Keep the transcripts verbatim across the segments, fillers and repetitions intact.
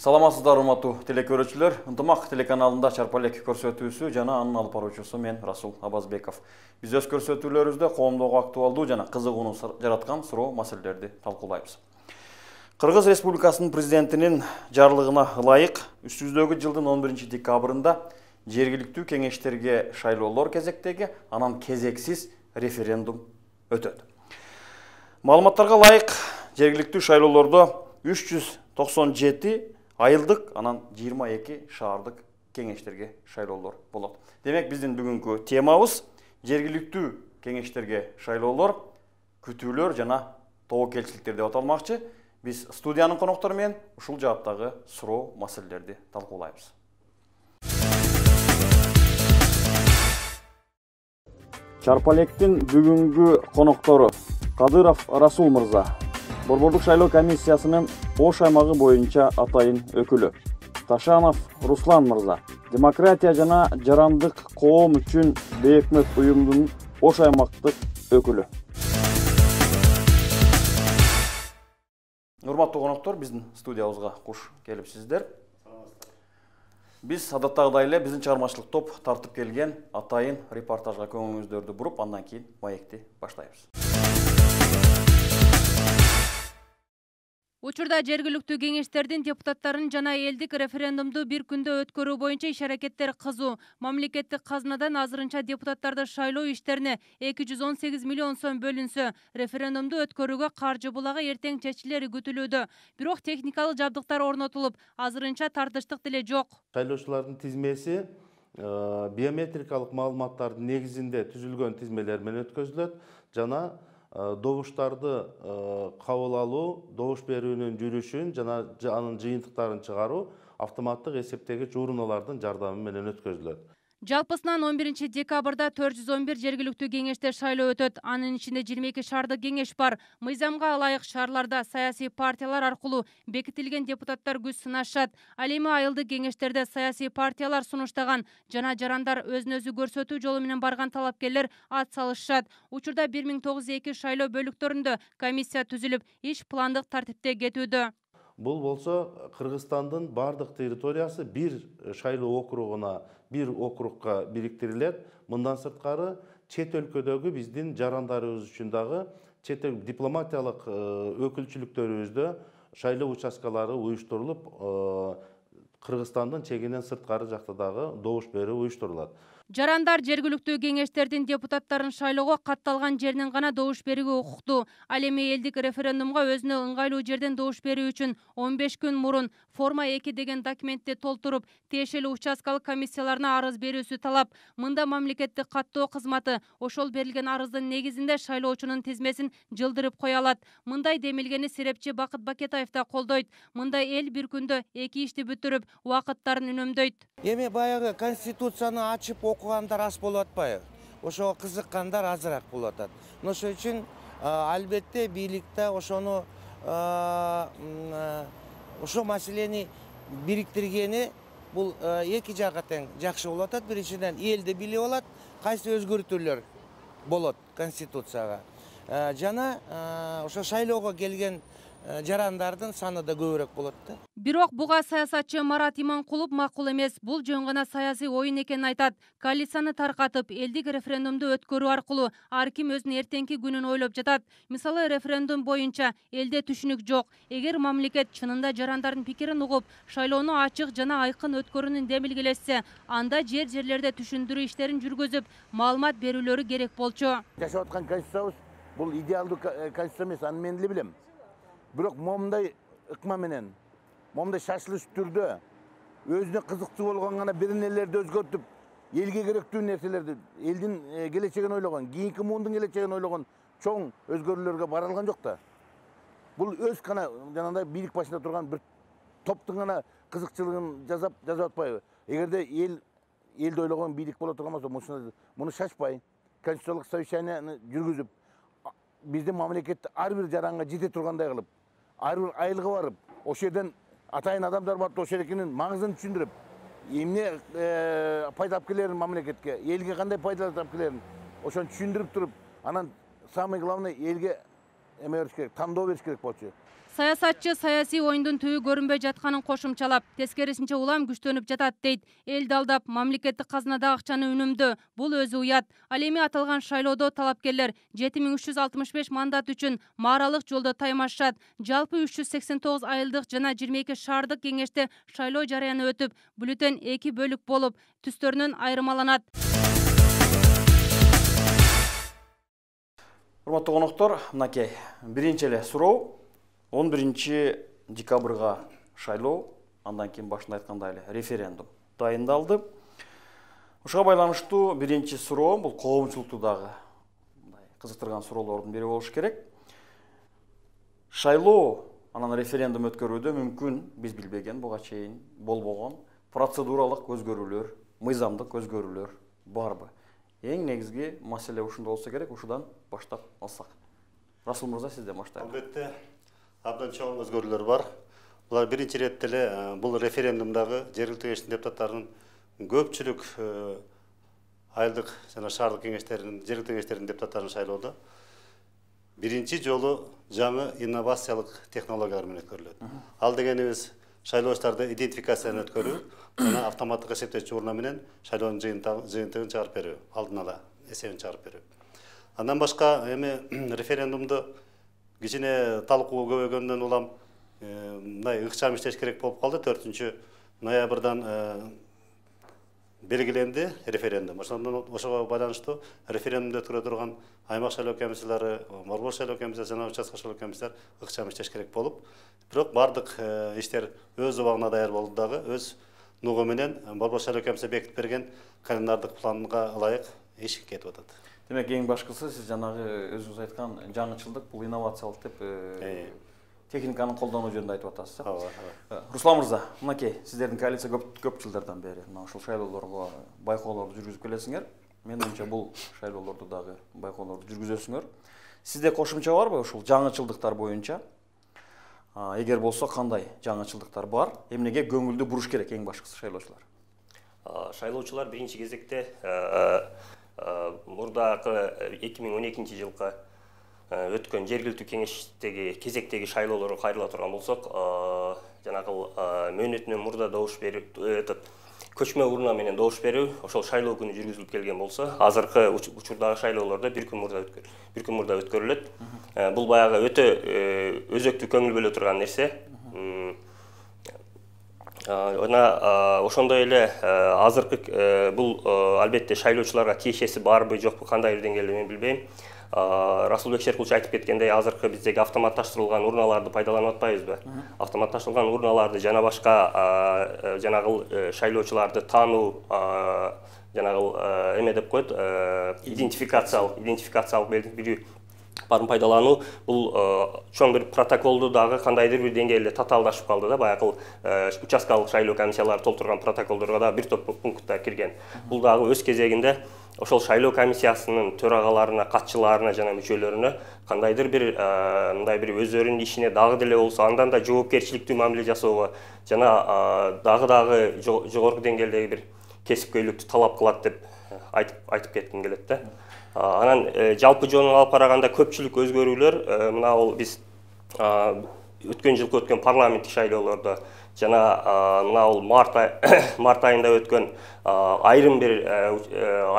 Саламатсыздар, урматтуу телекөрүүчүлөр. Ынтымак телеканалында Чарпалек көрсөтүүсү жана анын алып баруучусу мен Расул Абазбеков. Биз өз көрсөтүүлөрүбүздө коомдогу актуалдуу жана кызыгууну жараткан суроо маселелерди талкуулайбыз. Кыргыз Республикасынын президентинин жарлыгына ылайык үстүбүздөгү жылдын он биринчи декабрында жергиликтүү кеңештерге шайлоолор кезектеги, анан кезексиз референдум өтөт. Маалыматтарга ылайык жергиликтүү шайлоолордо үч жүз токсон жети айылдык, анан жыйырма эки шаардык кеңештерге шайлоолор болот. Демек, биздин бүгүнкү темабыз жергиликтүү кеңештерге шайлоолор, күтүүлөр жана тобокелчиликтер деп аталмакчы. Биз студиянын коноктору менен ушул жааттагы суроо маселелерди талкуулайбыз. Чарпалектин бүгүнкү коноктору Кадыров Расул мырза, Борбордук шайлоо комиссиясынын Ош аймагы боюнча атайын өкүлү. Ташанов Руслан мырза, демократия жана жарандык коом үчүн бейөкмөт уюмдун Ош аймактык өкүлү. Урматтуу коноктор, биздин студиябызга куш келипсиздер. Биз адаттагыдай эле биздин чыгармачылык топ тартып келген атайын репортажга көңүлүңүздөрдү буруп, андан кийин маекти баштайбыз. Учурда жергиликтүү кеңештердин депутаттарын жана элдик референдумду бир күндө өткөрүү боюнча иш-аракеттер кызуу. Мамлекеттик казынадан азырынча депутаттарды шайлоо иштерине эки жүз он сегиз миллион сом бөлүнсө, референдумду өткөрүүгө каржы булагы эртең чечилери күтүлүүдө. Бирок техникалык жабдыктар орнотулуп, азырынча тартыштык деле жок. Шайлоочулардын тизмеси биометрикалык маалыматтардын негизинде түзүлгөн тизмелер менен өткөзүлөт жана добуштарды кабыл алуу, добуш берүүнүн жүрүшүн жана анын жыйынтыктарын чыгаруу автоматтык эсептегич урналардын жардамы менен өткөзүлөт. Жалпысынан он биринчи декабрда төрт жүз он бир жергиликтүү кеңеште шайлоо өтөт. Анын ичинде жыйырма эки шаардык кеңеш бар. Мыйзамга ылайык шаарларда саясий партиялар аркылуу бекитилген депутаттар күч сынашат. Ал эми айылдык кеңештерде саясий партиялар сунуштаган жана жарандар өзүн өзү көрсөтүү жолу менен барган талапкерлер ат салышат. Учурда бир миң тогуз жүз эки шайлоо бөлүктөрүндө комиссия түзүлүп, иш пландык тартипте кетүүдө. Бул болсо Кыргызстандын бардык территориясы бир шайлоо округуна, бир округка бириктирилет. Мындан сырткары чет өлкөдөгү биздин жарандарыбыз үчүн дагы чет дипломатиялык өкүлчүлүктөрүбүздө шайлоо участкалары уюштурулуп, Кыргызстандын чегинен сырткары жакта дагы добуш берүү уюштурулат. Жарандар жергиликтүү кеңештердин депутаттарын шайлоого катталган жеринен гана добуш берүүгө укуктуу. Ал эми элдик референдумга өзүнө ыңгайлуу жерден добуш берүү үчүн он беш күн мурун форма эки деген документти толтуруп, тиешелүү участкалык комиссияларына арыз берүүсү талап. Мында мамлекеттик каттоо кызматы ошол берилген арыздын негизинде шайлоочунун тизмесин жылдырып кое алат. Мындай демилгени серепчи Бакыт Бакетаев да колдойт. Мындай эл бир күндө эки ишти бүтүрүп, убакыттарын үнөмдөйт. Эми баягы конституцияны ачып окугандар аз болуп атпайбы? Ошого кызыккандар азыраак болуп атат. Ошол үчүн албетте бийликте ошону ошол маселени бириктиргени бул эки жакка тең жакшы болуп атат. Биринчиден элди билип алат, кайсы өзгөртүүлөр болот конституцияга. Жана ошо шайлоого келген жарандардын саны да көбүрөөк болот да. Бирок буга саясатчы Марат Иманкулов макул эмес. Бул жөн гана саясий оюн экенин айтат. Коалицияны таркатып, элдик референдумду өткөрүү аркылуу ар ким өзүнүн эртеңки күнүн ойлоп жатат. Мисалы, референдум боюнча элде түшүнүк жок. Эгер мамлекет чынында жарандардын пикирин угуп, шайлоону ачык жана айкын өткөрүүнүн демилгелешсе, анда жер жерлерде түшүндүрүү иштерин жүргүзүп, маалымат берүүлөрү керек болчу. Жашап аткан конституциябыз бул идеалдуу конституция эмес, аны мен деле билем. Бирок момундай ыкма менен, момундай шашылыш түрдө өзүнө кызыкчуу болгон гана бир нелерди өзгөртүп, элге керектүү нерселерди, элдин келечегин ойлогон, кийинки муундун келечегин ойлогон чоң өзгөрүүлөргө бара алган жок да. Бул өз гана жанагындай бийлик башында турган бир топтун гана кызыкчылыгын жасап жасап атпайбы? Эгерде эл элди ойлогон бийлик боло турган болсо, муну шашпай, конституциялык совещанияны жүргүзүп, биздин мамлекетте ар бир жаранга жете тургандай кылып, ар бир айылга барып, ошол жерден атайын адамдар барып, ошол жердин маңызын түшүндүрүп, эмне пайда алып келерин мамлекетке, элге кандай пайда алып келерин, ошону түшүндүрүп туруп, анан самый главный элге эме бериш керек, тандоо бериш керек болчу. Саясатчы саясий оюндун түбү көрүнбөй жатканын кошумчалап, тескерисинче улам күчтөнүп жатат дейт. Элди алдап, мамлекеттик казынадагы акчаны үнөмдөө бул өзү уят. Ал эми аталган шайлоодо талапкерлер жети миң үч жүз алтымыш беш мандат үчүн мааралык жолдо таймашат. Жалпы үч жүз сексен тогуз айылдык жана жыйырма эки шаардык кеңеште шайлоо жарыяны өтүп, бюллетень эки бөлүк болуп, түстөрүнөн айырмаланат. Урматтуу коноктор, мынакей биринчи эле суроо он биринчи декабрга шайлоо, андан кийин башында айткандай эле референдум дайындалды. Ушуга байланыштуу биринчи суроо бул коомчулукту дагы кызыктырган суроолордун бири болуш керек. Шайлоо анан референдум өткөрүүдө мүмкүн биз билбеген, буга чейин болбогон процедуралык өзгөрүүлөр, мыйзамдык өзгөрүүлөр барбы? Эң негизги маселе ушунда болсо керек, ушудан баштап алсак. Расул мырза, сизден баштайлы. Албетте, абдан чоң өзгөрүүлөр бар. Булар биринчи иретте эле бул референдумдагы жергиликтүү кеңештин депутаттарынын көпчүлүк айылдык жана шаардык кеңештеринин, жергиликтүү кеңештердин депутаттарын шайлоодо биринчи жолу жаңы инновациялык технологиялар менен өткөрүлөт. Ал дегенибиз шайлоочуларды идентификацияны өткөрүү жана автоматтык эсептөөчү урна менен шайлоонун жыйынтыгын чыгарып берүү, алдын ала эсебин чыгарып берүү. Андан башка эми референдумду кичине талкуу көбөйгөндөн улам мындай ыкчам иштеш керек болуп калды. төртүнчү ноябрдан белгиленди референдум. Ошондон ошого байланыштуу референдумду өткөрө турган аймак шайлоо комиссиялары, борбор шайлоо комиссиясы жана участка шайлоо комиссиялар ыкчам иштеш керек болуп, бирок бардык иштер өз убагына даяр болду дагы, өз нугу менен борбор шайлоо комиссия бекитип берген календардык планга ылайык иш кетип атат. Демек, эң башкысы сиз жанагы өзүңүз айткан жаңычылдык, бул инновациялык деп техниканын колдонуу жөнүндө айтып атасыз. Ооба. Руслан мырза, мынакей сиздердин коалиция көп көп жылдардан бери мына ушул шайлоолорго байкоолорду жүргүзүп келесиңер. Мен оюмча бул шайлоолорду дагы байкоолорду жүргүзөсүңөр. Сизде кошумча барбы ушул жаңычылдыктар боюнча? Эгер болсо кандай жаңычылдыктар бар? Эмнеге көңүлдү буруш керек эң башкысы шайлоочулар? Шайлоочулар биринчи кезекте мурдагы эки миң он экинчи жылкы өткөн жергиликтүү кеңештеги кезектеги шайлоолорго кайрыла турган болсок, жанагы мөөнөтүнөн мурда добуш берип, көчмө урна менен добуш берүү ошол шайлоо күнү жүргүзүлүп келген болсо, азыркы учурдагы шайлоолордо бир күн мурда өткөр, бир күн мурда өткөрүлөт. Бул баягы өтө өзөктүү көңүл бөлө турган нерсе. Жана ошондой эле азыркы бул албетте шайлоочуларга тиешеси барбы, жокпу, кандай бир деңгээлде мен билбейм. Расулбек Шеркулович айтып кеткендей, азыркы биздеги автоматташтырылган урналарды пайдаланып атпайбызбы? Автоматташтырылган урналарды жана башка жанагы шайлоочуларды таануу, жанагы эме деп коет, идентификациялык, идентификациялык белгилүү барын пайдалануу, бул чоң бир протоколду дагы кандайдыр бир деңгээлде татаалдашып калды да, баягы участкалык шайлоо комиссиялары толтурган протоколдорго да бир топ пункттар кирген. Бул дагы өз кезегинде ошол шайлоо комиссиясынын төрагаларына, катчыларына жана мүчөлөрүнө кандайдыр бир мындай бир өздөрүнүн ишине дагы деле болсо андан да жоопкерчиликтүү мамиле жасоого жана дагы дагы жогорку деңгээлдеги бир кесипкөйлүктү талап кылат деп айтып айтып кетким келет да. Анан жалпы жөнүн алып караганда көпчүлүк өзгөрүүлөр мына бул биз өткөн жылкы өткөн парламенттик шайлоолордо жана мына бул март март айында өткөн айрым бир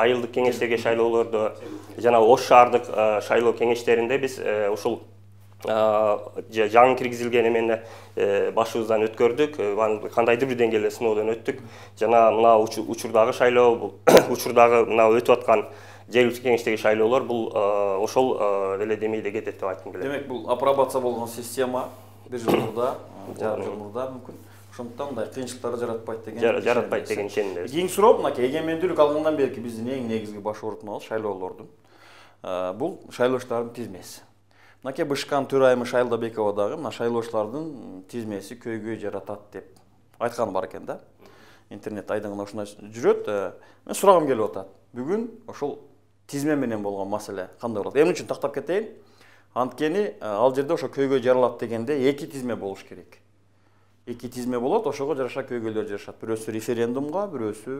айылдык кеңештеги шайлоолордо жана Ош шаардык шайлоо кеңештеринде биз ушул жаңы киргизилген эмени башыбыздан өткөрдүк, кандайдыр бир деңгээлде сыноодон өттүк. Жана мына учурдагы шайлоо, учурдагы мына өтүп аткан жергиликтүү кеңештеги шайлоолор бул ошол эле демейде кетет деп айткым келет. Демек, бул апробация болгон система бир жыл мурда, жарым жыл мурда мүмкүн. Ошондуктан мындай кыйынчылыктарды жаратпайт деген. Жаратпайт деген ишенимдебиз. Кийинки суроо, мынакей эгемендүүлүк алгандан берки биздин эң негизги баш оорутмабыз шайлоолордун. Бул шайлоочулардын тизмеси. Мынакей Бышкан төрайымы Шайлдабекова дагы мына шайлоочулардын тизмеси көйгөй жаратат деп айтканы бар экен да. Интернет айдыңында ушундай жүрөт. Мен сурагым келип атат. Бүгүн ошол тизме менен болгон маселе кандай болот? Эмне үчүн тактап кетейин? Анткени ал жерде ошо көйгөй жаралат дегенде эки тизме болуш керек. Эки тизме болот, ошого жараша көйгөйлөр жарашат. Бирөөсү референдумга, бирөөсү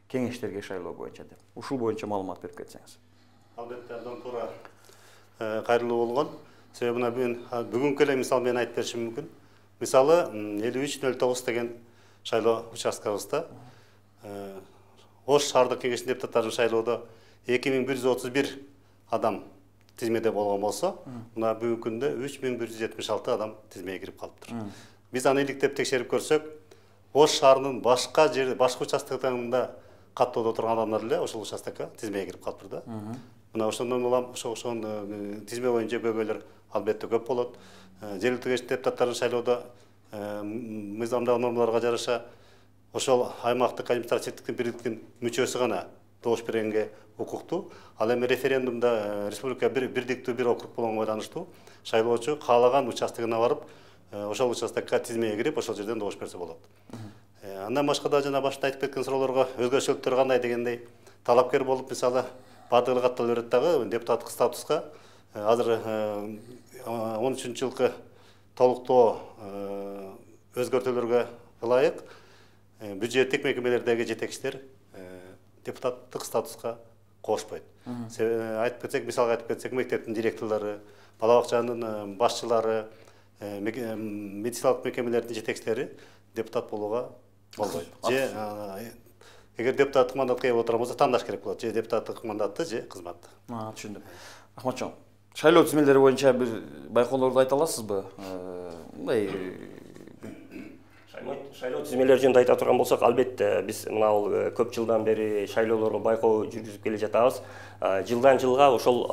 кеңештерге шайлоо боюнча деп. Ушул боюнча маалымат берип кетсеңиз. Албетте, абдан туура кайрылуу болгон. Себеби мына бүгүнкү эле мисал мен айтып беришим мүмкүн. Мисалы элүү үч нөл тогуз деген шайлоо участкабызда Ош шаардык кеңешинин депутаттарын шайлоодо эки миң бир жүз отуз бир адам тизмеде болгон болсо, мына бүгүнкү күндө үч миң бир жүз жетимиш алты адам тизмеге кирип калыптыр. Биз аны иликтеп текшерип көрсөк, Ош шаарынын башка жер, башка участкаларында каттоодо турган адамдар эле ошол участкага тизмеге кирип калыптыр да. Мына ошондон улам ошо ошон тизме боюнча көйгөйлөр албетте көп болот. Жергиликтүү кеңеш депутаттарын шайлоодо мыйзамдагы нормаларга жараша ошол аймактык административдик бирликтин мүчөсү гана добуш бергенге укуктуу. Ал эми референдумда республика бирдиктүү бир округ болгонго байланыштуу шайлоочу каалаган участогуна барып, ошол участокко тизмеге кирип, ошол жерден добуш берсе болот. Андан башка да жана башта айтып кеткен суроолорго өзгөчөлүктөр кандай дегендей, талапкер болуп, мисалы, бардыгы каттала берет дагы депутаттык статуска азыр он үчүнчү жылкы толуктоо өзгөртүүлөргө ылайык бюджеттик мекемелердеги жетекчилер депутаттык статуска кошпойт. Айтып кетсек, мисалга айтып кетсек, мектептин директорлору, бала бакчанын башчылары, медициналык мекемелердин жетекчилери депутат болууга болбойт. Же эгер депутаттык мандатка ээ боло турган болсо, тандаш керек болот. Же депутаттык мандатты, же кызматты. Түшүндүм. Рахматжон. Шайлоо тизмелери боюнча бир байкоолорду айта аласызбы? Мындай шайлоо тизмелери жөнүндө айта турган болсок, албетте биз мына бул көп жылдан бери шайлоолорго байкоо жүргүзүп келе жатабыз. Жылдан жылга ошол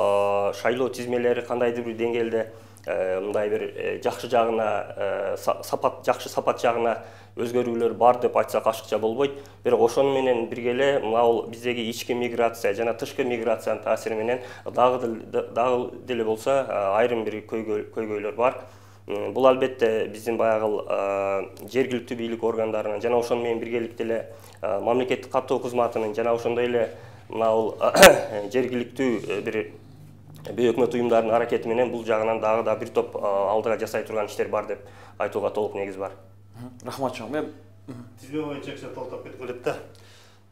шайлоо тизмелери кандайдыр бир деңгээлде мындай бир жакшы жагына, сапат жакшы сапат жагына өзгөрүүлөр бар деп айтсак ашыкча болбойт. Бирок ошону менен бирге эле мына бул биздеги ички миграция жана тышкы миграциянын таасири менен дагы дагы деле болсо айрым бир көйгөйлөр бар. Бул албетте биздин баягы жергиликтүү бийлик органдарынын жана ошону менен биргеликте эле мамлекеттик каттоо кызматынын жана ошондой эле мына бул жергиликтүү бир бейөкмөт уюмдардын аракети менен бул жагынан дагы да бир топ алдыга жасай турган иштер бар деп айтууга толук негиз бар. Рахматжон. Мен тизме боюнча кичине толуктап кетким келет да.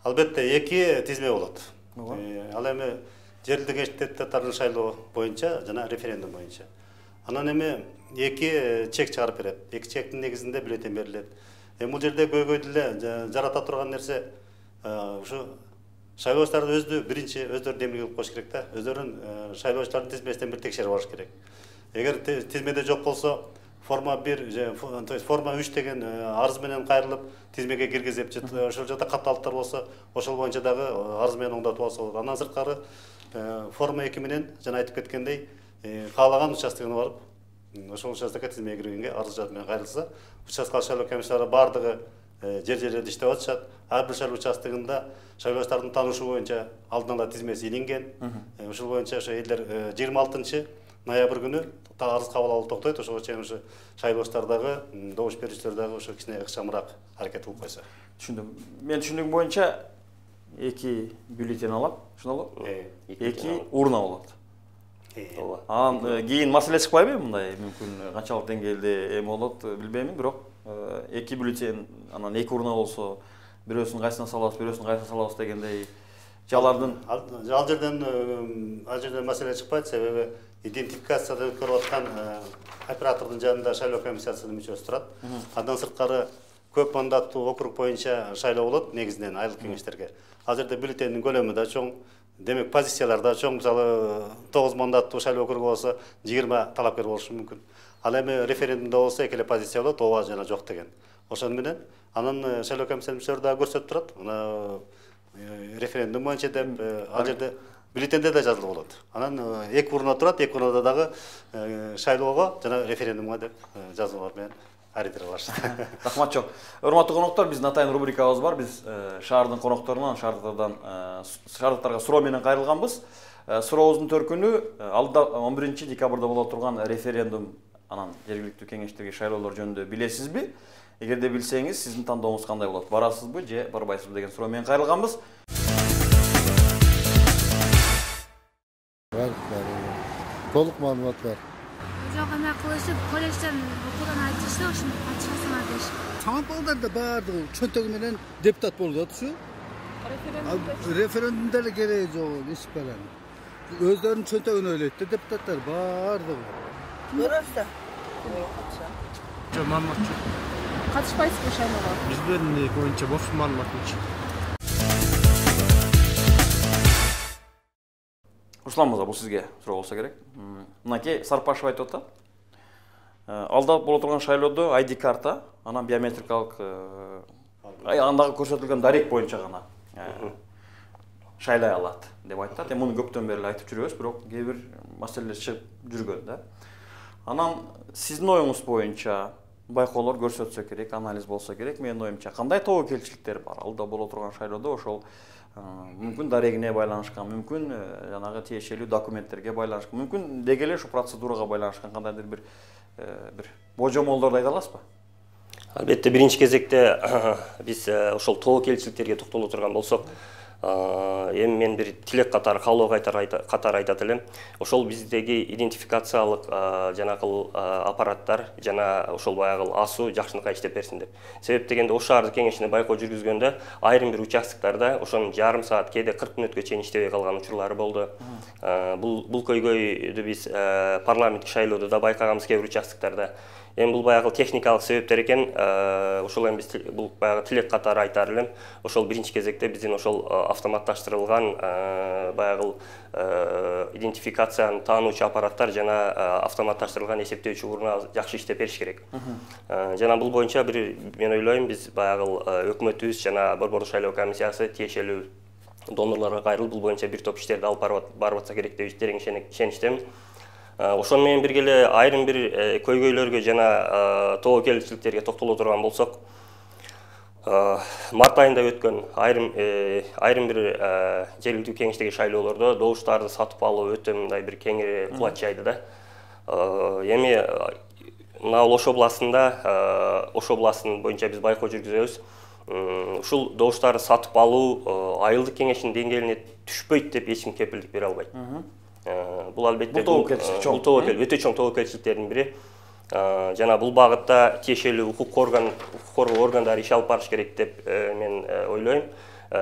Албетте эки тизме болот. Ал эми жергиликтүү кеңеш депутаттарын шайлоо боюнча жана референдум боюнча. Анан эми эки чек чыгарып берет. Эки чектин негизинде бюллетень берилет. Эми бул жерде көйгөйдү эле жарата турган нерсе ушу шайлоочуларды өздү биринчи өздөрү демилге кылып коюш керек да. Өздөрүнүн шайлоочулардын тизмесинен бир текшерип алыш керек. Эгер тизмеде жок болсо, форма бир, то есть форма үч деген арыз менен кайрылып тизмеге киргизип, ошол жерде катталыптар болсо, ошол боюнча дагы арыз менен оңдотуп алса болот. Андан сырткары форма эки менен жана айтып кеткендей, каалаган участогуна барып, ошол участокко тизмеге киргенге арыз жат менен кайрылса, участкалык шайлоо комиссиялары бардыгы жер жерлерде иштеп атышат. Ар бир шайлоо участогунда шайлоочулардын таанышуу боюнча алдын ала тизмеси илинген. Ошол боюнча ошо элдер жыйырма алтынчы ноябрь күнү арыз кабыл алуу токтойт. Ошого чейин ушу шайлоочулар дагы, добуш берүүчүлөр дагы ошо кичине ыкчамыраак аракет кылып койсо. Түшүндүм. Мен түшүндүгүм боюнча эки бюллетень алам, ошондо эки урна болот. Анан кийин маселе чыкпайбы мындай, мүмкүн канчалык деңгээлде эми болот билбеймин, бирок эки бюллетень, анан эки урна болсо, бирөөсүн кайсына салабыз, бирөөсүн кайсына салабыз дегендей жалардын ал жерден ал жерден маселе чыкпайт, себеби идентификациядан өткөрүп аткан оператордун жанында шайлоо комиссиясынын мүчөсү турат. Андан сырткары көп мандаттуу округ боюнча шайлоо болот негизинен айылдык кеңештерге. Ал жерде бюллетендин көлөмү да чоң, демек позициялар да чоң. Мисалы тогуз мандаттуу шайлоо округу болсо жыйырма талапкер болушу мүмкүн. Ал эми референдумда болсо эки эле позиция болот, ооба жана жок деген. Ошону менен анан шайлоо комиссиянын мүчөлөрү дагы көрсөтүп турат. Мына референдум боюнча деп ал жерде бюллетенде да жазылып болот. Анан эки урна турат, эки урнада дагы шайлоого жана референдумга деп жазуулар менен аридер бар. Рахматжон. Урматтуу коноктор, биздин атайын рубрикабыз бар. Биз шаардын конокторунан, шаардыктардан, шаардыктарга суроо менен кайрылганбыз. Сурообуздун төркүнү алда он биринчи декабрда боло турган референдум, анан жергиликтүү кеңештерге шайлоолор жөнүндө билесизби? Эгерде билсеңиз, сиздин тандооңуз кандай болот? Барасызбы же барбайсызбы деген суроо менен кайрылганбыз. Бар, бар. Толук маалымат бар. Жок, ана кылышып, колледжден окуудан айтышты, ошону ачасыңар деш. Самаркалдарда баардыгы чөнтөгү менен депутат болуп атышы. Референдумда эле кереги жок, эч баран. Өздөрүнүн чөнтөгүн ойлойт да депутаттар баардыгы. Көрөбүз да. Жок, маалымат жок. Катышпайсызбы шайлоого? Биздин боюнча бош маалымат боюнча. Руслан мырза, бул сизге суроо болсо керек. Мынакей Сарпашев айтып атат. Алда боло турган шайлоодо ай ди карта, анан биометрикалык андагы көрсөтүлгөн дарек боюнча гана шайлай алат деп айтат. Эми муну көптөн бери айтып жүрөбүз, бирок кээ бир маселелер чыгып жүргөн да. Анан сиздин оюңуз боюнча байкоолор көрсөтсө керек, анализ болсо керек. Менин оюмча кандай тобокелчиликтер бар? Алда боло турган шайлоодо ошол мүмкүн дарегине байланышкан, мүмкүн жанагы тиешелүү документтерге байланышкан, мүмкүн деги эле ушу процедурага байланышкан кандайдыр бир бир божомолдорду айта аласызбы? Албетте, биринчи кезекте биз ошол тобокелчиликтерге токтоло турган болсок, эми мен бир тилек катары, каалоо катары айтат элем. Ошол биздеги идентификациялык жанакыл аппараттар жана ошол баягы асуу жакшынакай иштеп берсин деп. Себеп дегенде ош шаардык кеңешине байкоо жүргүзгөндө айрым бир участоктарда ошонун жарым саат, кээде кырк мүнөткө чейин иштебей калган учурлары болду. Бул бул көйгөйдү биз парламенттик шайлоодо да байкаганбыз кээ бир участоктарда. Эми бул баягы техникалык себептер экен, ошол эми биз бул баягы тилек катары айтар элем. Ошол биринчи кезекте биздин ошол автоматташтырылган баягы идентификацияны таануучу аппараттар жана автоматташтырылган эсептөөчү урна жакшы иштеп бериш керек. Жана бул боюнча бир мен ойлойм биз баягы өкмөтүбүз жана Борбордук шайлоо комиссиясы тиешелүү донорлорго кайрылып бул боюнча бир топ иштерди алып барып атса керек деп терең ишеничтемин. Ошону менен бирге эле айрым бир көйгөйлөргө жана тобокелчиликтерге токтоло турган болсок, март айында өткөн айрым айрым бир жергиликтүү кеңештеги шайлоолордо добуштарды сатып алуу өтө мындай бир кеңири кулач жайды да. Эми мына Ош областында, Ош областынын боюнча биз байкоо жүргүзөбүз. Ушул добуштарды сатып алуу айылдык кеңештин деңгээлине түшпөйт деп эч ким кепилдик бере албайт. Бул албетте бул тобокел өтө чоң тобокелчиликтердин бири. Жана бул багытта тиешелүү укук орган, укук коргоо органдары иш алып барыш керек деп мен ойлойм.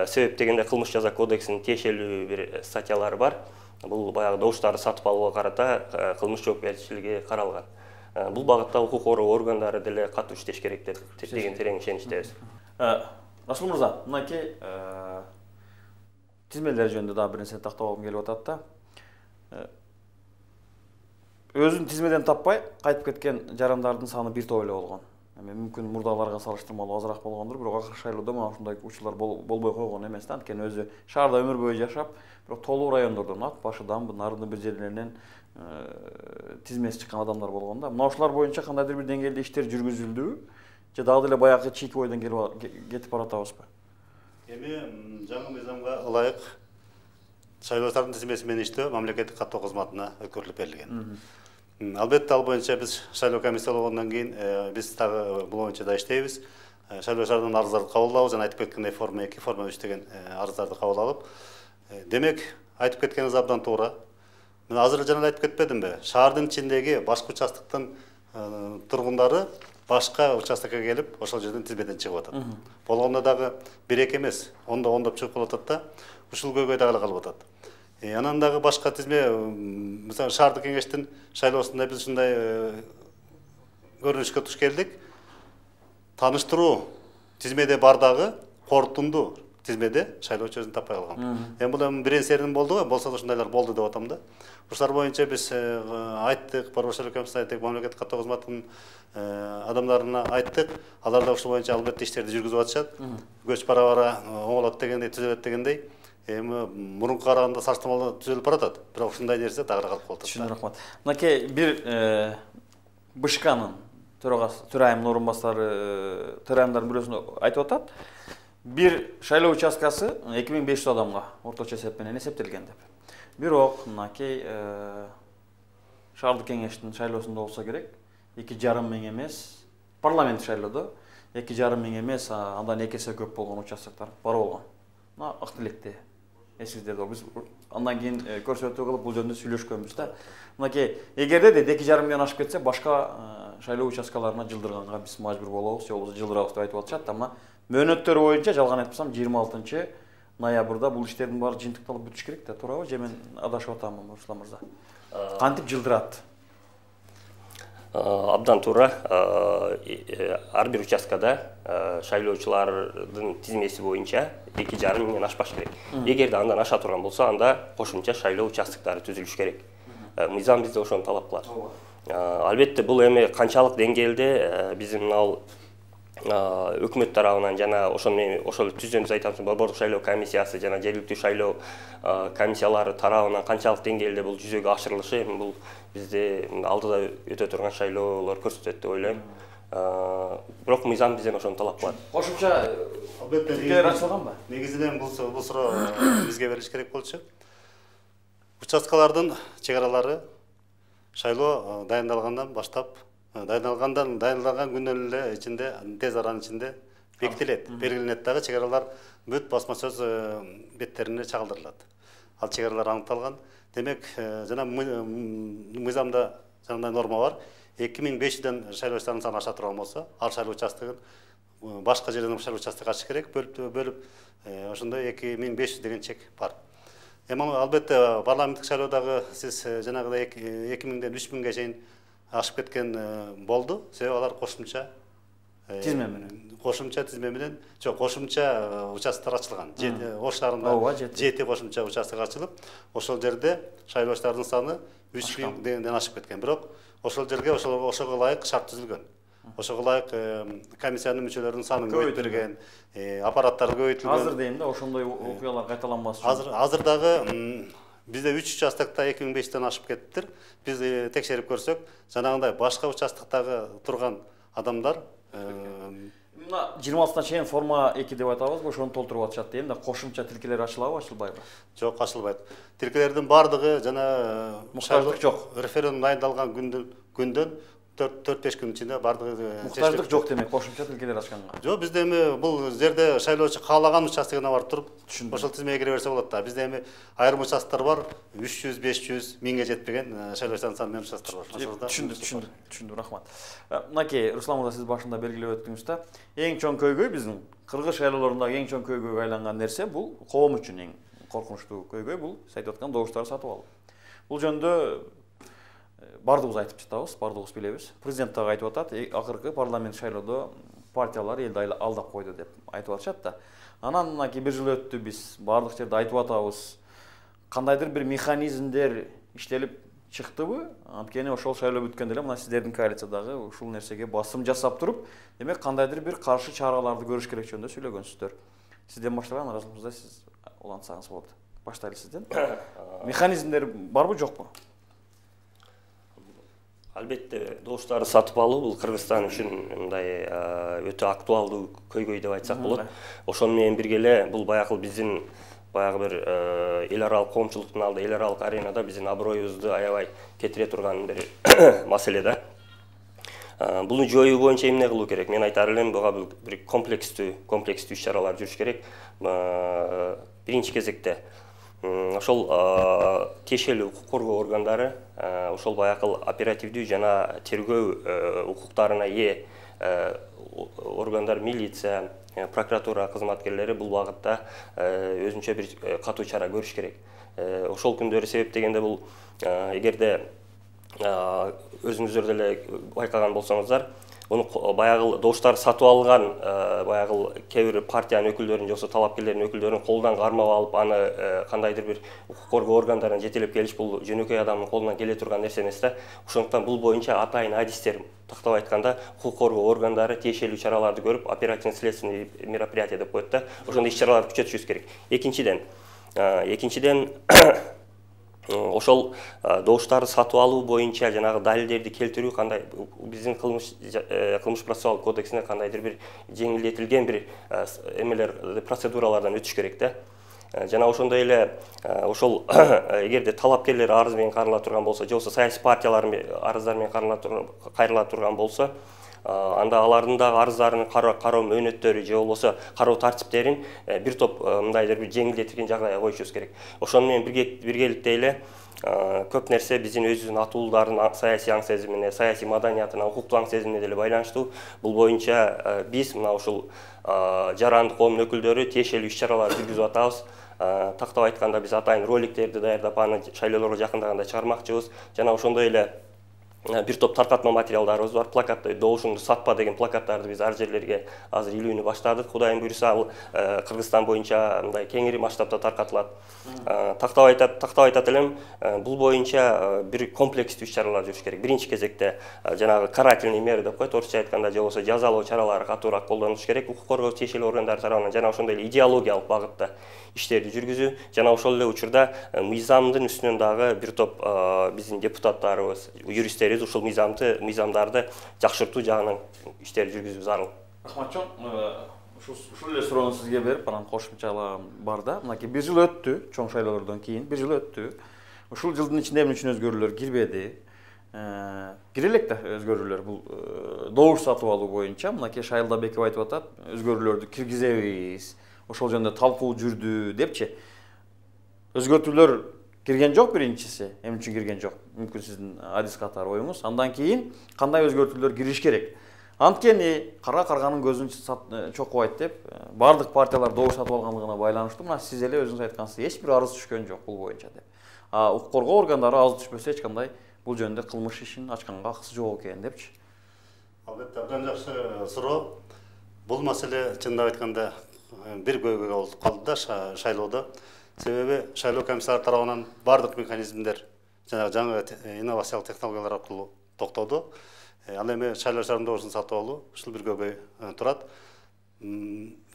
Себеп дегенде кылмыш жаза кодексинин тиешелүү бир статьялары бар. Бул баягы добуштарды сатып алууга карата кылмыш жоопкерчилиги каралган. Бул багытта укук коргоо органдары деле катуу иштеш керек деп деген терең ишеничтебиз. Расул мырза, мынакей тизмелер жөнүндө дагы бир нерсе тактоогум келип атат да. Өзүн тизмеден таппай кайтып кеткен жарандардын саны бир топ эле болгон. Эми мүмкүн мурдаларга салыштырмалуу азыраак болгондур, бирок акыркы шайлоодо мына ушундай учурлар болбой койгон эмес да. Анткени өзү шаарда өмүр бою жашап, бирок толуу райондордон, ат башыдан, нарындын бир жерлеринен тизмеси чыккан адамдар болгон да. Мына ушулар боюнча кандайдыр бир деңгээлде иштер жүргүзүлдүбү? Же дагы деле баягы чийки ойдон кетип баратабызбы? Эми жаңы мыйзамга ылайык шайлоочулардын тизмеси менен иштөө мамлекеттик каттоо кызматына өткөрүлүп берилген. Албетте ал боюнча биз шайлоо комиссия болгондон кийин биз дагы бул боюнча да иштейбиз. Шайлоочулардын арыздарын кабыл алабыз, жана айтып кеткендей форма эки, форма үч деген арыздарды кабыл алып, демек айтып кеткениңиз абдан туура. Мен азыр жана айтып кетпедимби? Шаардын ичиндеги башка участоктун тургундары башка участокко келип, ошол жерден тизмеден чыгып атат. Болгондо дагы бир эки эмес, ондо ондоп чыгып калып атат да. Ушул көйгөй дагы калып атат. Анан дагы башка тизме, мисалы шаардык кеңештин шайлоосунда биз ушундай көрүнүшкө туш келдик. Тааныштыруу тизмеде бар дагы корутунду тизмеде шайлоочу өзүн таппай калган. Эми бул эми бир серин болду го, болсо да ушундайлар болду деп атам да. Ушулар боюнча биз айттык, Борбор шайлоо комиссиясына айттык, мамлекеттик каттоо кызматынын адамдарына айттык. Алар да ушул боюнча албетте иштерди жүргүзүп атышат. Көч бара-бара оңолот дегендей, түзөлөт дегендей. Эми мурунку караганда салыштырмалуу түзөлүп баратат. Бирок ушундай нерсе дагы калып калат. Түшүнүп рахмат. Мынакей бир БШКнын төрагасы, төрайымдын орун басары, төрайымдардын бирөөсү айтып атат. Бир шайлоо участкасы эки миң беш жүз адамга орточо эсеп менен эсептелген деп. Бирок мынакей шаардык кеңештин шайлоосунда болсо керек, эки жарым миң эмес, парламент шайлоодо эки жарым миң эмес, андан эки эсе көп болгон участоктор бар болгон. Мына ак тилекте эсиңиздерде биз андан кийин көрсөтүү кылып бул жөнүндө сүйлөшкөнбүз да. Мынакей эгерде де эки жарым миңден ашып кетсе, башка шайлоо участкаларына жылдырганга биз мажбур болобуз, же болбосо жылдырабыз деп айтып атышат да. Мына мөөнөттөр боюнча жалган айтпасам жыйырма алтынчы ноябрда бул иштердин баары жыйынтыкталып бүтүш керек да, туурабы? Же мен адашып атамбы, Руслан мырза? Кантип жылдырат? Абдан туура. Ар бир участкада шайлоочулардын тизмеси боюнча эки жарым миңден ашпаш керек. Эгерде андан аша турган болсо, анда кошумча шайлоо участкалары түзүлүш керек. Мыйзам бизде ошону талап кылат. Албетте бул эми канчалык деңгээлде биздин мына өкмөт тарабынан жана ошол ошол түзөбүз айтабыз, борбордук шайлоо комиссиясы жана жергиликтүү шайлоо комиссиялары тарабынан канчалык деңгээлде бул жүзөгө ашырылышы, эми бул бизде алдыда өтө турган шайлоолор көрсөтөт деп ойлойм. Бирок мыйзам бизден ошону талап кылат. Кошумча тилкелер ачылганбы? Негизинен бул бул суроо бизге берилиш керек болчу. Участкалардын чек аралары шайлоо дайындалгандан баштап, дайындалгандан дайындалган күндөн эле ичинде, тез аранын ичинде бекитилет, белгиленет дагы чек аралар бүт басма сөз беттерине чагылдырылат. Ал чек аралар аныкталган. Демек, жана мыйзамда жандай норма бар. эки миң беш жүздөн шайлоочулардын саны аша турган болсо, ал шайлоо участогун башка жерден шайлоо участогу ачыш керек, бөлүп бөлүп ошондой эки миң беш жүз деген чек бар. Эми албетте парламенттик шайлоодагы сиз жанагыдай эки миңден үч миңге чейин ашып кеткен болду. Себеби алар кошумча тизме менен. Кошумча тизме менен, жок, кошумча участоктор ачылган. Ош шаарында жети кошумча участок ачылып, ошол жерде шайлоочулардын саны үч миңден ашып кеткен. Бирок ошол жерге ошого ылайык шарт түзүлгөн. Ошого ылайык комиссиянын мүчөлөрүнүн санын көбөйтүлгөн, аппараттар көбөйтүлгөн. Азыр дейм да, ошондой окуялар кайталанбас үчүн. Азыр азыр дагы бизде үч участокто эки миң беш жүздөн ашып кетиптир. Биз текшерип көрсөк, жанагындай башка участоктогу турган адамдар мына жыйырма алтысына чейин форма эки деп айтабызбы, ошону толтуруп атышат дейм да, кошумча тилкелер ачылабы, ачылбайбы? Жок, ачылбайт. Тилкелердин бардыгы жана муктаждык жок. Референдум дайындалган күндөн күндөн төрт беш күн ичинде бардыгы муктаждык жок демек, кошумча тилкелер ачканга. Жок, бизде эми бул жерде шайлоочу каалаган участогуна барып туруп, ошол тизмеге кире берсе болот да. Бизде эми айрым участоктор бар, үч жүз, беш жүз, миңге жетпеген шайлоочулардын саны менен участоктор бар. Түшүндүм, түшүндүм, түшүндүм, рахмат. Мынакей, Руслан мырза, сиз башында белгилеп өттүңүз да, эң чоң көйгөй биздин кыргыз шайлоолорундагы эң чоң көйгөйгө айланган нерсе бул коом үчүн эң коркунучтуу көйгөй бул айтып аткан добуштарды сатып алуу. Бул жөнүндө бардыгыбыз айтып жатабыз, бардыгыбыз билебиз. Президент дагы айтып атат, акыркы парламент шайлоодо партиялар элди алдап койду деп айтып атышат да. Анан мынакей бир жыл өттү, биз бардык жерде айтып атабыз. Кандайдыр бир механизмдер иштелип чыктыбы? Анткени ошол шайлоо бүткөндө эле мына сиздердин коалициядагы ушул нерсеге басым жасап туруп, демек кандайдыр бир каршы чараларды көрүш керек жөнүндө сүйлөгөнсүздөр. Сизден баштаган Размырза, сиз улантсаңыз болот. Баштайлы сизден. Механизмдер барбы, жокпу? Албетте, добуштарды сатып алуу бул Кыргызстан үчүн мындай өтө актуалдуу көйгөй деп айтсак болот. Ошону менен бирге эле бул баягы биздин баягы бир эл аралык коомчулуктун алдында, эл аралык аренада биздин аброюбузду аябай кетире турган бир маселе да. Буну жоюу боюнча эмне кылуу керек? Мен айтар элем, буга бир комплекстүү, комплекстүү иш-чаралар жүрүш керек. Биринчи кезекте ошол тиешелүү укук коргоо органдары, ошол баягы оперативдүү жана тергөө укуктарына ээ органдар, милиция, прокуратура кызматкерлери бул багытта өзүнчө бир катуу чара көрүш керек. Ошол күндөрү себептегенде бул эгерде өзүңүздөр деле байкаган болсоңуздар, ону баягы добуштар сатып алган баягы кээ бир партиянын өкүлдөрүн же болбосо талапкерлердин өкүлдөрүн колунан кармап алып, аны кандайдыр бир укук коргоо органдарына жетелеп келиш бул жөнөкөй адамдын колунан келе турган нерсе эмес да. Ошондуктан бул боюнча атайын адистер, тактап айтканда, укук коргоо органдары тиешелүү чараларды көрүп, оперативно-следственный мероприятие деп коет да. Ошондой иш-чараларды күчөтүшүбүз керек. Экинчиден, экинчиден ошол добуштарды сатып алуу боюнча жанагы далилдерди келтирүү кандай биздин кылмыш кылмыш процессуалдык кодексине кандайдыр бир жеңилдетилген бир эмелер, процедуралардан өтүш керек да. Жана ошондой эле ошол эгерде талапкерлер арыз менен карыла турган болсо, же болбосо саясий партиялар арыздар менен кайрыла турган болсо, анда алардын да арыздарын кароо мөөнөттөрү же болбосо кароо тартиптерин бир топ мындайдыр бир жеңилдетилген жагдайга коюшубуз керек. Ошону менен биргеликте эле көп нерсе биздин өзүбүздүн атуулардын саясий аң сезимине, саясий маданиятына, укуктук аң сезимине деле байланыштуу. Бул боюнча биз мына ушул жарандык коомдун өкүлдөрү тиешелүү иш-чаралар жүргүзүп атабыз. Тактап айтканда биз атайын роликтерди даярдап, аны шайлоолорго жакындаганда чыгармакчыбыз. Жана ошондой эле бир топ таркатма материалдарыбыз бар. Плакатты "Добушуңду сатпа" деген плакаттарды биз ар жерлерге азыр илүүнү баштадык. Кудайым буйруса, ал Кыргызстан боюнча мындай кеңири масштабда таркатылат. Тактап айтат, тактап айтат элем, бул боюнча бир комплекстүү иш-чаралар жүрүш керек. Биринчи кезекте жанагы карательный мера деп коет, орусча айтканда, же болбосо жазалоо чаралары катуураак колдонулуш керек. Укук коргоо тиешелүү органдары тарабынан жана ошондой эле идеологиялык багытта иштерди жүргүзүү, жана ошол эле учурда мыйзамдын үстүнөн дагы бир топ биздин депутаттарыбыз, юристтерибиз ушул мыйзамды, мыйзамдарды жакшыртуу жагынан иштер жүргүзүү зарыл. Рахматжон, ушул эле суроону сизге берип, анан кошумчалар бар да. Мынакей бир жыл өттү, чоң шайлоолордон кийин бир жыл өттү. Ушул жылдын ичинде эмне үчүн өзгөрүүлөр кирбеди? Кире элек да өзгөрүүлөр бул добуш сатып алуу боюнча. Мынакей Шайылда Беков айтып атат, өзгөрүүлөрдү киргизебиз. Ошол жөнүндө талкуу жүрдү депчи. Өзгөртүүлөр кирген жок биринчиси, эмне үчүн кирген жок? Мүмкүн сиздин адис катары оюңуз. Андан кийин кандай өзгөртүүлөр кириш керек? Анткени кара карганын көзүн чокубайт деп бардык партиялар добуш сатып алганлыгына байланыштуу мына сиз эле өзүңүз айткансыз, эч бир арыз түшкөн жок бул боюнча деп. А укук коргоо органдары арыз түшпөсө эч кандай бул жөнүндө кылмыш ишин ачканга акысы жок экен депчи. Албетте, абдан жакшы суроо. Бул маселе чындап айтканда бир көйгөй болуп калды да шайлоодо. Себеби шайлоо комиссары тарабынан бардык механизмдер жана жаңы инновациялык технологиялар аркылуу токтоду. Ал эми шайлоо шаарында добушун сатып алуу ушул бир көйгөй турат.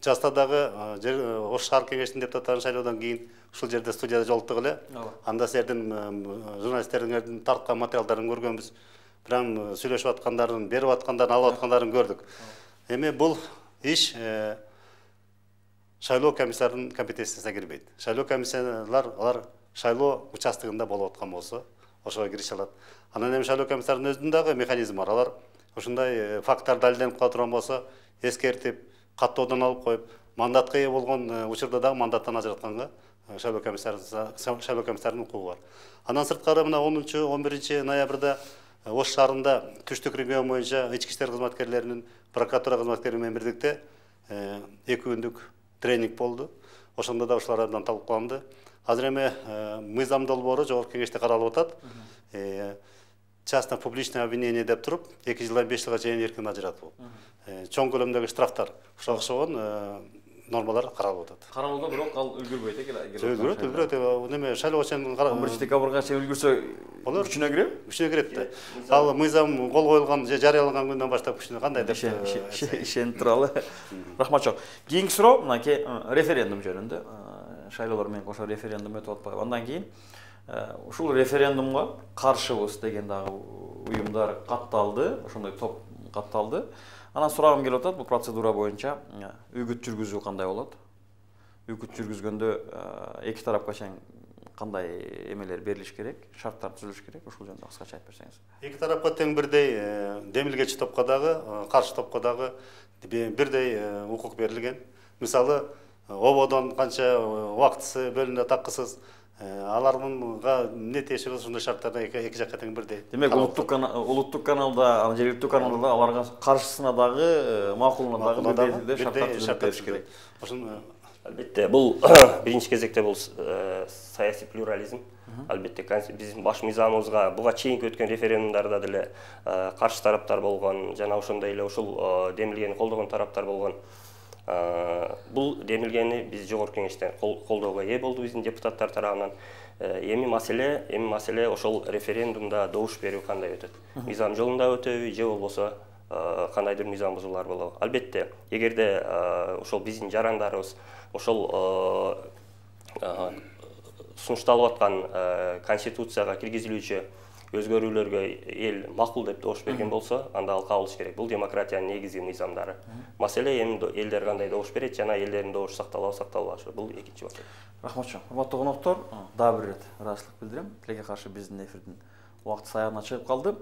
Жаста дагы Ош шаар кеңешинин депутаттарын шайлоодон кийин ушул жерде студияда жолуктук эле. Анда силердин журналисттердин тарткан материалдарын көргөнбүз. Прям сүйлөшүп аткандарын, берип аткандарын, алып аткандарын көрдүк. Эми бул иш шайлоо комиссарынын компетенциясына кирбейт. Шайлоо комиссиялар алар шайлоо участогунда болуп аткан болсо, ошого кирише алат. Анан эми шайлоо комиссарынын өзүнүн дагы механизми бар. Алар ушундай факттар далилденип кала турган болсо, эскертип, каттоодон алып коюп, мандатка ээ болгон учурда дагы мандаттан ажыратканга шайлоо комиссарынын шайлоо комиссарынын укугу бар. Андан сырткары мына онунчу он биринчи ноябрда Ош шаарында күчтүк регион боюнча ички иштер кызматкерлеринин, прокуратура кызматкерлери менен бирдикте эки күндүк тренинг болду. Ошондо да ушулар абдан талкууланды. Азыр эми мыйзам долбоору жогорку кеңеште каралып атат. Частно-публичное обвинение деп туруп, эки жылдан беш жылга чейин эркин ажыратуу. Чоң көлөмдөгү штрафтар ушуга окшогон нормалар каралып атат. Каралууда бирок ал үлгүрбөйт экен. Үлгүрөт, үлгүрөт. Неме шайлоо чейин он биринчи декабрга чейин үлгүрсө күчүнө кирет? Күчүнө кирет. Ал мыйзам кол коюлган же жарыяланган күндөн баштап күчүнө кандай деп ишенип туралы. Рахматжон. Кийинки суроо мынакей референдум жөнүндө. Шайлоолор менен кошо референдум өтүп атпайбы? Андан кийин ушул референдумга каршыбыз деген дагы уюмдар катталды, ошондой топ катталды. Анан сурагым келип атат, бул процедура боюнча үгүт жүргүзүү кандай болот? Үгүт жүргүзгөндө эки тарапка чейин кандай эмелер берилиш керек, шарттар түзүлүш керек, ушул жөнүндө кыскача айтып берсеңиз. Эки тарапка тең бирдей демилгечи топко дагы, каршы топко дагы бирдей укук берилген. Мисалы, ободон канча убактысы бөлүнө такысыз, аларга эмне тиешеби ушундай шарттарда эки жакка тең бирдей. Демек, улуттук каналда, жергиликтүү каналда да аларга каршысына дагы, макулуна дагы бирдей шарттар түзүлүп бериш керек. Ошону албетте бул биринчи кезекте бул саясий плюрализм. Албетте биздин баш мыйзамыбызга буга чейинки өткөн референдумдарда деле каршы тараптар болгон, жана ошондой эле ушул демилгени колдогон тараптар болгон. Бул демилгени биз жогорку кеңештен колдоого ээ болду биздин депутаттар тарабынан. Эми маселе, эми маселе ошол референдумда добуш берүү кандай өтөт? Мыйзам жолунда өтөбү же болбосо кандайдыр мыйзам бузуулар болобу? Албетте, эгерде ошол биздин жарандарыбыз ошол сунушталып аткан конституцияга киргизилүүчү өзгөрүүлөргө эл макул деп добуш берген болсо, анда ал кабыл керек. Бул демократиянын негизги мыйзамдары. Маселе эми элдер кандай добуш берет жана элдердин добушу сакталабы, сакталбашы. Бул экинчи вопрос. Рахматжон. Урматтуу коноктор, дагы бир ирет ыраазычылык билдирем. Тилекке каршы биздин эфирдин убакыты саягына чыгып калды.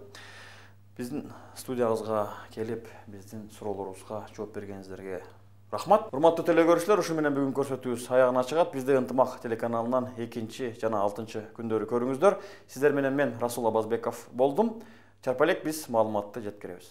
Биздин студиябызга келип, биздин суроолорубузга жооп бергениңиздерге рахмат. Урматтуу телекөрүүчүлөр, ушу менен бүгүн көрсөтүүбүз аягына чыгат. Бизде Ынтымак телеканалынан экинчи жана алтынчы күндөрү көрүңүздөр. Сиздер менен мен Расул Абазбеков болдум. Чарпалек биз маалыматты жеткиребиз.